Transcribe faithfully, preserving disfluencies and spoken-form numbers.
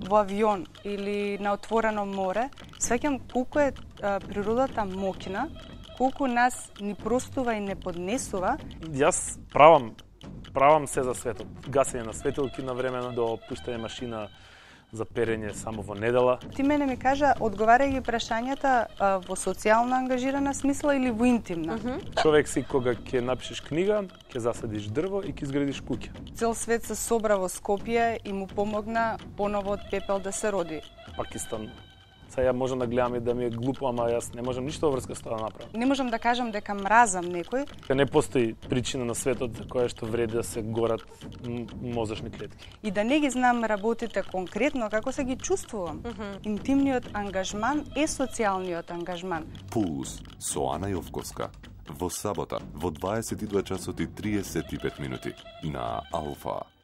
во авион или на отворено море, свеќам колку е а, природата моќна, колку нас ни простува и не поднесува. Јас правам правам се за светот. Гасење на светилки на време до пуштање машина за перење само во недела. Ти мене ми кажа, одговарај ги прашањата а, во социјално ангажирана смисла или во интимна? Mm -hmm. Човек си кога ќе напишеш книга, ќе засадиш дрво и ќе изградиш куќа. Цел свет се собра во Скопје и му помогна поново од пепел да се роди. Пакистан. Сега ја можам да гледам и да ми е глупо, ама јас не можам ништо во врска со тоа да направам. Не можам да кажам дека мразам некој. Не постои причина на светот за која што вреди да се горат мозочни клетки. И да не ги знам работите конкретно, како се ги чувствувам. Mm -hmm. Интимниот ангажман е социјалниот ангажман. Пулс со Ана Јовковска во сабота во дваесет и два часот и триесет и пет минути на Алфа.